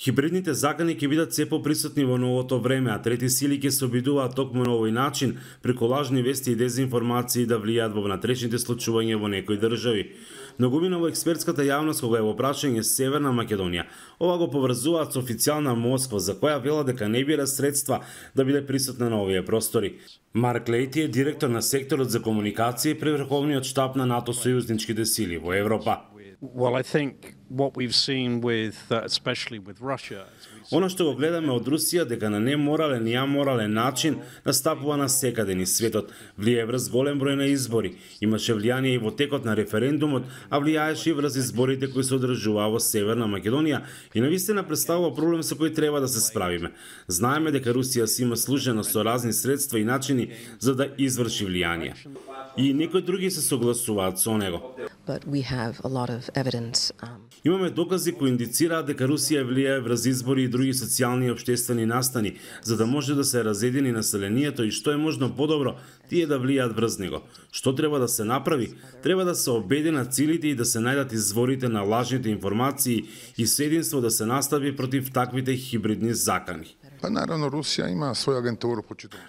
Хибридните закани ќе бидат се поприсутни во новото време, а трети сили ќе се обидуваат токму на овој начин, преку лажни вести и дезинформации да влијаат во внатрешните случувања во некои држави. Многумина во експертската јавност кога е во прашање Северна Македонија, ова го поврзуваат со официјална Москва, за која вела дека не бира средства да биде присутна на овие простори. Марк Лејти е директор на секторот за комуникација при Врховниот штаб на НАТО сојузничките сили во Европа. Well, I think what we've seen with, especially with Russia. Она што го гледаме од Русија дека на неморален и аморален начин настапува на секаде низ светот, влијае врз голем број на избори, имаше влијание и во текот на референдумот, а влијаеше и врз изборите кои се одржуваа во Северна Македонија и навистина представува проблем со кој треба да се справиме. Знаеме дека Русија си има служена со разни средства и начини за да изврши влијание. И некои други се согласуваат со него. Имаме докази кои индицираат дека Русија влијае врз избори и други социјални и општествени настани, за да може да се разедини населението и што е можно подобро, тие да влијаат врз него. Што треба да се направи? Треба да се обединат силите и да се најдат изворите на лажните информации и со единство да се настави против таквите хибридни закани. Па наравно Русија има своја агентура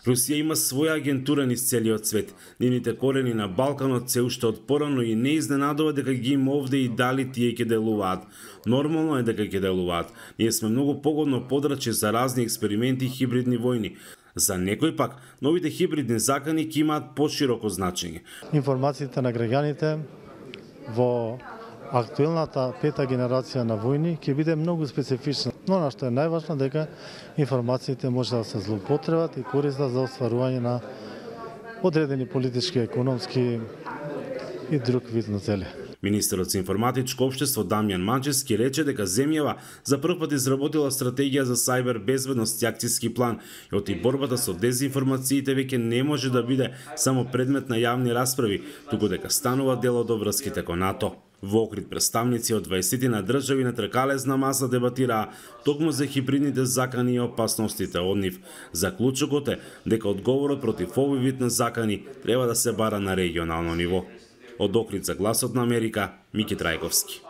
Русија има своја агентура низ целиот свет. Нивните корени на Балканот се уште од порано и не изненадува дека ги има овде и дали тие ќе делуваат. Нормално е дека ќе делуваат. Ние сме многу погодно подрачје за разни експерименти и хибридни војни. За некој пак, новите хибридни закани ќе имаат пошироко значење. Информациите на граѓаните во актуелната пета генерација на војни ќе биде многу специфична. Но она што е најважно дека информациите може да се злоупотребат и користат за остварување на одредени политички, економски и друг вид на цели. Министерот за информатичко општество Дамјан Манчевски рече дека земјава за прв пат изработила стратегија за сајбер безбедност и акцијски план, и оти борбата со дезинформациите веќе не може да биде само предмет на јавни расправи, туку дека станува дел од обврските кон НАТО. Во Охрид представници од 20 на држави на тркалезна маса дебатираа токму за хибридните закани и опасностите од нив. Заклучокот е дека одговорот против овој вид на закани треба да се бара на регионално ниво. Од Охрид за Гласот на Америка, Мики Трајковски.